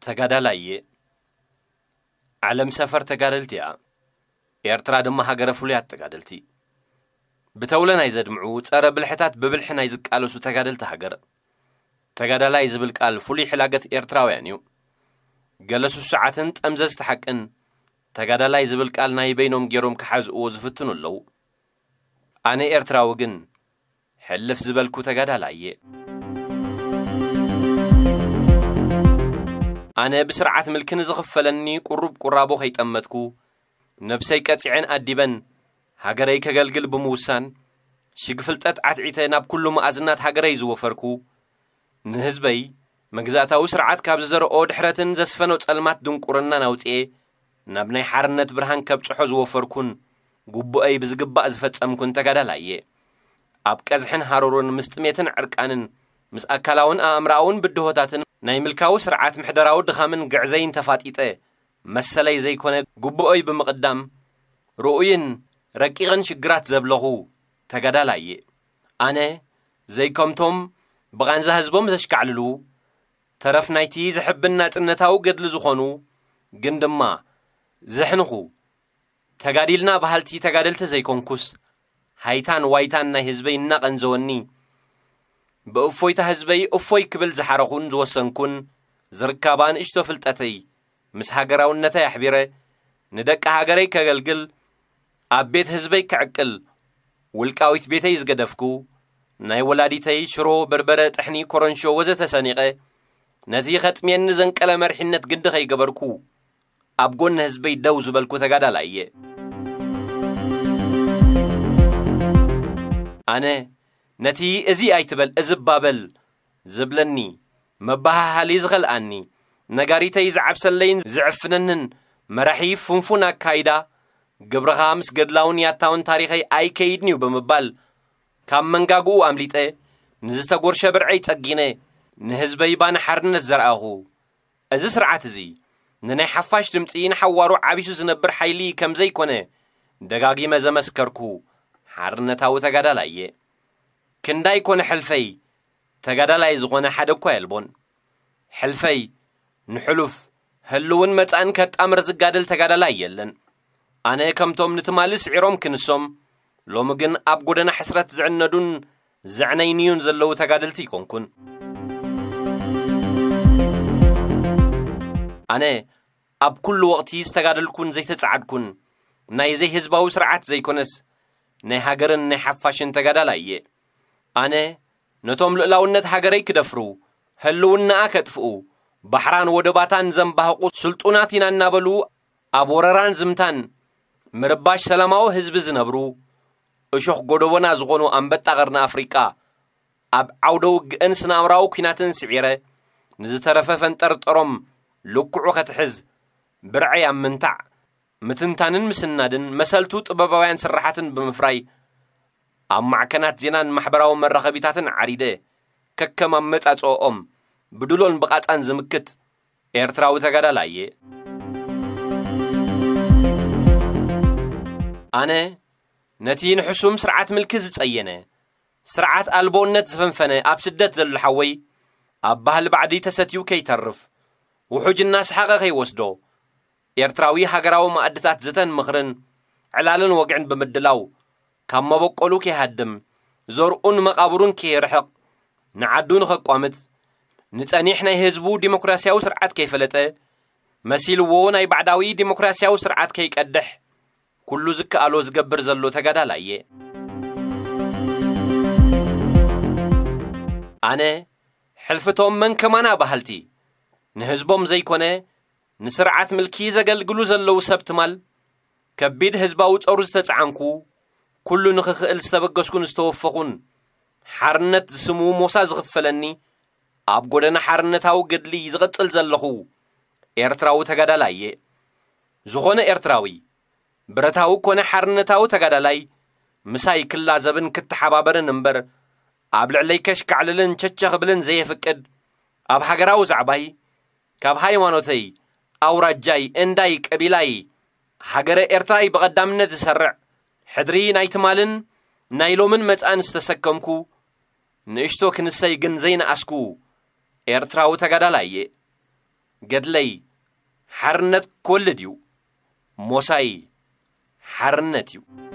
ተጋዳላይ እየ። ዓለም ሰፈር ተጋደልቲ እያ። ኤርትራ ድማ ሃገረ ፍሉያት ተጋደልቲ። ብተውለ ናይ ዘድምዑ፣ ጸረ ብልሕታት ብብልሒ ናይ ዝቃለሱ ተጋደልቲ ሃገር። ተጋዳላይ ዝብል ቃል ፍሉይ ሕላገት ኤርትራውያን እዩ። ገለ ስሱዓትን ጠምዘዝቲ ሓቅን ተጋዳላይ ዝብል ቃል ናይ በይኖም ገይሮም ክሓዝእዎ ዝፍትኑ ኣለዉ። ኣነ ኤርትራዊ ግን ሕልፍ ዝበልኩ ተጋዳላይ እየ። ኣነ ብስርዓት ምልኪ ንዝኽፈለኒ ቁሩብ ቁራቦ ከይጠመትኩ፣ ነብሰይ ቀጺዐን ኣዲበን፣ ሃገረይ ከገልግል ብምውሳን፣ ሽግ ፍልጠት ዓትዒተ ናብ ኩሉ መኣዝናት ሃገረይ ዝወፈርኩ፣ ንህዝበይ መግዛእታዊ ስርዓት ካብ ዝዘርኦ ድሕረትን ዘስፈኖ ጸልማት ድንቁርናን ኣውጽኤ፣ ናብ ናይ ሓርነት ብርሃን ከብጽሖ ዝወፈርኩን፣ ግቡኣይ ብዝግባእ ዝፈጸምኩን ተጋዳላይ እየ። ኣብ ቀዝሕን ሃሩርን ምስ ጥሜትን ዕርቃንን፣ ምስ ኣካላውን ኣእምሮኣውን ብድሆታትን ናይ ምልካዊ ስርዓት ምሕደራዊ ድኻምን ግዕዘይን ተፋጢጠ፣ መሰለይ ዘይኮነ ግቡኦይ ብምቕዳም፣ ርኡይን ረቂቕን ሽግራት ዘብለኹ ተጋዳላይ እየ። ኣነ ዘይከምቶም ብቓንዛ ህዝቦም ዘሽካዕልሉ፣ ተረፍ ናይቲ ዘሕብን ናጽነታዊ ገድሊ ዝኾኑ፣ ግን ድማ ዘሕንኹ፣ ተጋዲልና በሃልቲ ተጋደልቲ ዘይኮንኩስ፣ ሃይታን ዋይታን ናይ ህዝበይ እናቐንዘወኒ፣ ብእፎይታ ህዝበይ እፎይ ክብል ዝሓረኹን ዝወሰንኩን፣ ዝርካባ ንእሽቶ ፍልጠተይ ምስ ሃገራውነተይ ኣሕቢረ፣ ንደቂ ሃገረይ ከገልግል፣ ኣብ ቤት ህዝበይ ክዕቅል፣ ውልቃዊት ቤተይ ዝገደፍኩ፣ ናይ ወላዲተይ ሽሮ፣ በርበረ፣ ጥሕኒ፣ ኮረንሾ ወዘተ ሰኒቐ፣ ነቲ ከጥምየኒ ዘንቀለ መሪሕነት ግዲ ከይገበርኩ፣ ኣብ ጎኒ ህዝበይ ደው ዝበልኩ ተጋዳላይ እየ። ኣነ ነቲ እዚ ኣይትበል፣ እዚ ባበል ዝብለኒ፣ መበሃሃሊ ዝኸልኣኒ፣ ነጋሪተይ ዝዓብሰለይን ዝዕፍነንን መራሒ ፍንፉን ኣካይዳ፣ ግብርኻ ምስ ገድላውን ያታውን ታሪኸይ ኣይከይድን እዩ ብምባል፣ ካብ መንጋግኡ ኣምሊጠ፣ ንዝተጎርሸ ብርዐይ ጸጊነ፣ ንህዝበይ ባና ሓርነት ዘርኣኹ። እዚ ስርዓት እዚ፣ ንናይ ሓፋሽ ድምጺ ንሓዋሩ ዓቢሱ ዝነብር ሓይሊ ከም ዘይኮነ፣ ደጋጊመ ዘመስከርኩ ሓርነታዊ ተጋዳላይ እየ። ክንዳይ ኮነ ሕልፈይ፣ ተጋዳላይ ዝኾነ ሓደ እኳ የልቦን። ሕልፈይ ንሕሉፍ፣ ህልውን መጻእን ከጣምር ዝጋደል ተጋዳላይ የለን። ኣነ ከምቶም ንትማሊ ስዒሮም ክንሶም፣ ሎሚ ግን ኣብ ጎደና ሕስረት ዝዕነዱን ዘዕነይንዩን ዘለዉ ተጋደልቲ ኣይኮንኩን። ኣነ ኣብ ኩሉ ወቕቲ ዝተጋደልኩን ዘይተጻዓድኩን፣ ናይ ዘይህዝባዊ ስርዓት ዘይኮነስ፣ ናይ ሃገርን ናይ ሓፋሽን ተጋዳላይ እየ። ኣነ ነቶም ልኡላውነት ሃገረይ ክደፍሩ፣ ህልውናኣ ከጥፍኡ፣ ባሕራን ወደባታን ዘንባህቑ ስልጡናት ኢና እናበሉ፣ ኣብ ወረራን ዝምታን ምርባሽ ሰላማዊ ህዝቢ ዝነብሩ፣ እሾኽ ጎደቦና ዝኾኑ ኣንበጣ ቀርኒ ኣፍሪቃ፣ ኣብ ዓውደ ውግእን ስነ-ኣእምራዊ ኲናትን ስዒረ፣ ንዝተረፈ ፈንጠርጠሮም ልክዑ ከትሕዝ፣ ብርዐይ ኣብ ምንታዕ፣ ምትንታንን ምስናድን መሰልቱ ጥበባውያን ስራሓትን ብምፍራይ፣ ኣብ ማዕከናት ዜናን ማሕበራዊ መራኸቢታትን ዓሪደ፣ ከከም ኣመጻጽኦኦም ብድሎን ብቓጻን ዝምክት ኤርትራዊ ተጋዳላይ እየ። ኣነ ነቲ ንሕሱም ስርዓት ምልኪ ዝጸየነ፣ ስርዓት ኣልቦነት ዝፈንፈነ ኣብ ስደት ዘሎ ሓወይ፣ ኣብ ባህሊ ባዕዲ ተሰትዩ ከይተርፍ፣ ውሑጅ እናሰሓቐ ከይወስዶ፣ ኤርትራዊ ሃገራዊ ማኣድታት ዘተን ምኽርን ዕላልን ወግዕን ብምድላው፣ ካብ መበቆሉ ከይሃድም፣ ዘርኡን መቓብሩን ከየርሕቕ፣ ንዓዱ ንኸቋምት፣ ንጸኒሕ ናይ ህዝቡ ዲሞክራስያዊ ስርዓት ከይፈለጠ፣ መሲልዎ ናይ ባዕዳዊ ዲሞክራስያዊ ስርዓት ከይቀድሕ፣ ኩሉ ዝከኣሎ ዝገብር ዘሎ ተጋዳላይ እየ። ኣነ፣ ሕልፍቶም መን ከማና በሃልቲ፣ ንህዝቦም ዘይኮነ፣ ንስርዓት ምልኪ ዘገልግሉ ዘለዉ ሰብ ትማል፣ ከቢድ ህዝባዊ ጾር ዝተጻዓንኩ፣ ኩሉ ንኽኽእል ዝተበገስኩን ዝተወፈኹን፣ ሓርነት ዝስሙ ሞሳ ዝኽፈለኒ፣ ኣብ ጎደና ሓርነታዊ ገድሊ ዝቕጽል ዘለኹ ኤርትራዊ ተጋዳላይ እየ። ዝኾነ ኤርትራዊ፣ ብረታዊ ኮነ ሓርነታዊ ተጋዳላይ፣ ምሳይ ክላዘብን ክተሓባበርን እምበር፣ ኣብ ልዕለይ ከሽካዕልልን ቸቸ ክብልን ዘየፍቅድ፣ ኣብ ሃገራዊ ዛዕባይ፣ ካብ ሃይማኖተይ፣ ኣውራጃይ፣ እንዳይ፣ ቀቢላይ፣ ሃገረ ኤርትራይ ብቐዳምነት ዝሰርዕ፣ ሕድሪ ናይ ትማልን ናይ ሎምን መጻእን ዝተሰከምኩ፣ ንእሽቶ ክንሰይ ግን ዘይነኣስኩ ኤርትራዊ ተጋዳላይ እየ። ገድለይ ሓርነት ክወልድ እዩ። ሞሳይ ሓርነት እዩ።